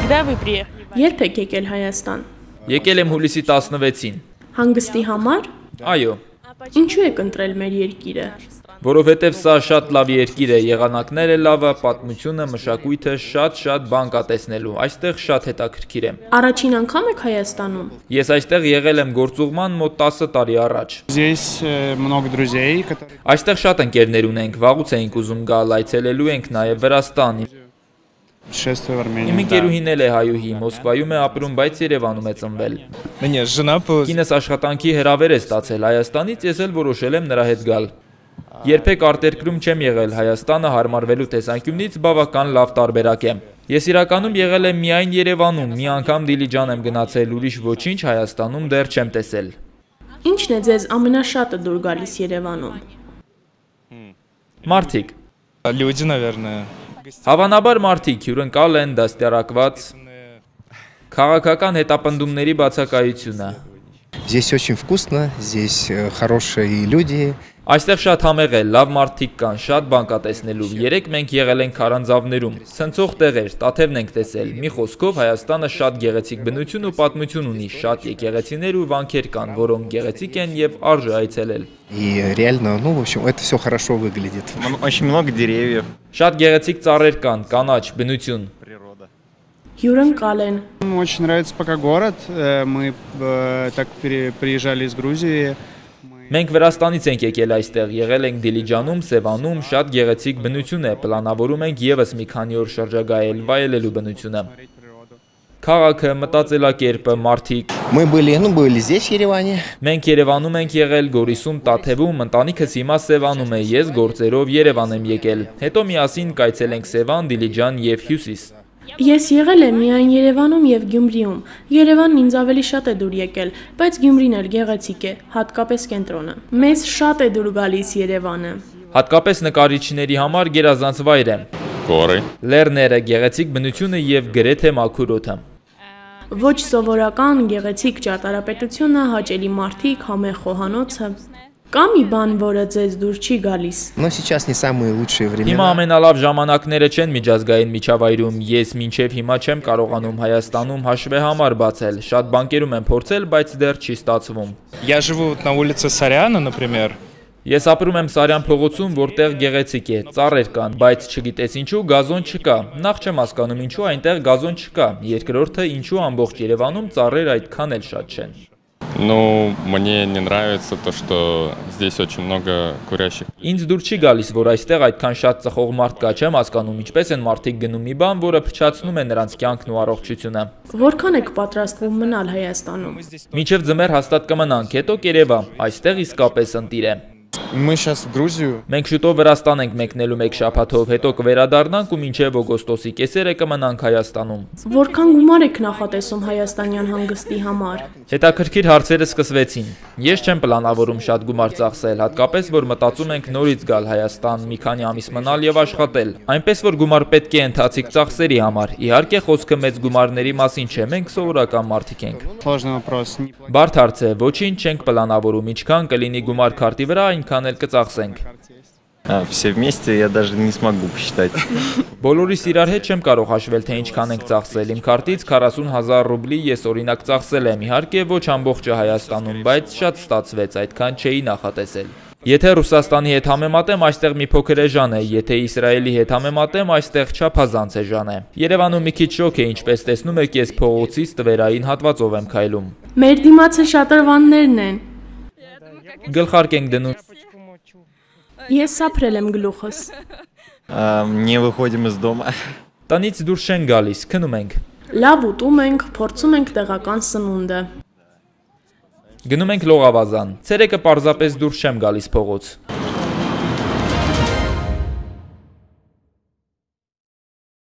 Когда вы приехали? Երբ եք եկել Հայաստան։ Եկել եմ հուլիսի 16-ին։ Հանգստի համար։ Այո, Ինչու եք ընտրել մեր երկիրը։ որովհետև սա շատ լավ երկիր է, եղանակները լավը, պատմությունը, մշակույթը շատ բան կա տեսնելու, այստեղ շատ հետաքրքիր է։ Առաջին անգամ եք Հայաստանում։ Ես այստեղ եղել եմ գործուղման մոտ 10 տարի առաջ։ Здесь много друзей, которые... Այստեղ շատ ընկերներ ունենք, վաղուց էինք ուզում գալ, այցելելու ենք նաև Վրաստան։ Путешествия в Армению. Իմ ընկերուհին էլ է հայուհի, Մոսկվայում է ապրում, բայց Երևանում է ծնվել։ Կինս աշխատանքի հրավեր է ստացել Հայաստանից, ես էլ որոշել եմ նրա հետ գալ։ Երբեք արտերկրում չեմ եղել, Հայաստանը հարմարվելու տեսանկյունից բավական լավ տարբերակ է։ Ես իրականում եղել եմ միայն Երևանում, մի անգամ Դիլիջան եմ գնացել, ուրիշ ոչինչ Հայաստանում դեռ չեմ տեսել։ Ինչն է ձեզ ամենաշատը դուր գալիս Երևանում։ Մարդիկ։ Люди, наверное. Հավանաբար մարդիկ հյուրընկալ են, դաստիարակված, քաղաքական հետապնդումների բացակայությունը։ Здесь очень вкусно, здесь хорошие люди. Այստեղ շատ համեղ է, լավ մարդիկ կան, շատ բան կա տեսնելու։ Երեք մենք եղել ենք Քարանձավներում, ցնցող տեղեր, տաթևն ենք տեսել։ Մի խոսքով Հայաստանը շատ գեղեցիկ բնություն ու պատմություն ունի, շատ եկեղեցիներ ու վանքեր կան, որոնք գեղեցիկ են եւ արժե այցելել։ И реально, ну, в общем, это все хорошо выглядит. Очень много деревьев. Շատ գեղեցիկ ծառեր կան, կանաչ, բնություն։ Հյուրընկալ են։ Мне очень нравится пока город. Мы так приезжали из Грузии. Մենք Վրաստանից ենք եկել այստեղ, եղել ենք Դիլիջանում, Սևանում, շատ գեղեցիկ բնություն է, պլանավորում ենք եւս մի քանի օր շրջագայել, վայելելու բնությունը։ Քաղաքը, մտածելակերպը, մարդիկ։ Мы были здесь, в Ереване. Մենք Երևանում ենք եղել, Գորիսում, Տաթևում, ընտանիքս հիմա Սևանում է, ես գործերով Երևան եմ եկել։ Հետո միասին կայցելենք Սևան, Դիլիջան եւ Հյուսիս։ Ես եղել եմ միայն Երևանում եւ Գյումրիում։ Երևանն ինձ ավելի շատ է դուր եկել, բայց Գյումրին էլ գեղեցիկ է, հատկապես կենտրոնը։ Մեզ շատ է դուր գալիս Երևանը։ Հատկապես նկարիչների համար գերազանց վայր է։ Горы. Լեռները, գեղեցիկ բնությունը եւ գրեթե մաքուր օդը։ Ոչ սովորական գեղեցիկ ճարտարապետությունը, հաճելի մարդիկ, համեղ խոհանոցը։ Կա մի բան, որը ձեզ դուր չի գալիս։ Но сейчас не самые лучшие Հիմա времена. ամենալավ ժամանակները չեն միջազգային միջավայրում, ես մինչև հիմա չեմ կարողանում Հայաստանում հաշվեհամար բացել, շատ բանկերում եմ փորձել, բայց դեռ չի ստացվում։ Я живу на улице Саряна, например. Ես ապրում եմ Սարյան փողոցում, որտեղ գեղեցիկ է, ծառեր կան, բայց չգիտես ինչու գազոն չկա։ Նախ չեմ հասկանում ինչու այնտեղ գազոն չկա։ Երկրորդը ինչու ամբողջ Երևանում ծառեր այդքան էլ շատ չեն։ Ну, мне не нравится то, что здесь очень много курящих. Ինձ դուր չի գալիս, որ այստեղ այդքան շատ ծխող մարդ կա, չեմ հասկանում ինչպես են մարդիկ գնում մի բան, որը փչացնում է նրանց կյանքն ու առողջությունը։ Որքան եք պատրաստվում մնալ Հայաստանում։ Մինչև ձմեռ հաստատ կմնանք, հետո կերևա, այստեղ իսկապես ընտիր է։ Мы сейчас в Грузию. Մենք շուտով Վրաստան ենք մեկնելու մեկ շաբաթով, հետո կվերադառնանք ու մինչև օգոստոսի կեսերը կմնանք Հայաստանում։ Որքան գումար եք նախատեսում հայաստանյան հանգստի համար։ Հետաքրքիր հարցերը սկսվեցին։ Ես չեմ պլանավորում շատ գումար ծախսել, հատկապես որ մտածում ենք նորից գալ Հայաստան, մի քանի ամիս մնալ եւ աշխատել։ Այնպես որ գումար պետք է ընթացիկ ծախսերի համար։ Իհարկե խոսքը մեծ գումարների մասին չէ, մենք սովորական մարդիկ ենք։ Сложный вопрос. Բարդ հարց է, ոչինչ չենք պլանավորում, ինչքան կլինի գումար քարտի վրա, այնքան էլ կծախսենք։ Все вместе я даже не смогу посчитать. Բոլորիս իրար հետ չեմ կարող հաշվել, թե ինչքան ենք ծախսել։ Իմ քարտից 40,000 ռուբլի ես օրինակ ծախսել եմ, իհարկե ոչ ամբողջը Հայաստանում, բայց շատ ստացվեց, այդքան չէի նախատեսել։ Եթե Ռուսաստանի հետ համեմատեմ, այստեղ մի փոքր էժան է, եթե Իսրայելի հետ համեմատեմ, այստեղ չափազանց էժան է։ Երևանում մի քիչ շոկ է, ինչպես տեսնում եք, ես փողոցից տվերային հատվածով եմ քայլում։ Մեր դիմացը շատրվաններն են։ Գլխարկ ենք դնում։ Ես սափրել եմ գլուխս։ Не выходим из дома. Տնից դուրս չեն գալիս, քնում ենք։ Լավ ուտում ենք, փորձում ենք տեղական սնունդը։ Գնում ենք լողավազան։ Ցերեկը պարզապես դուրս չեմ գալիս փողոց։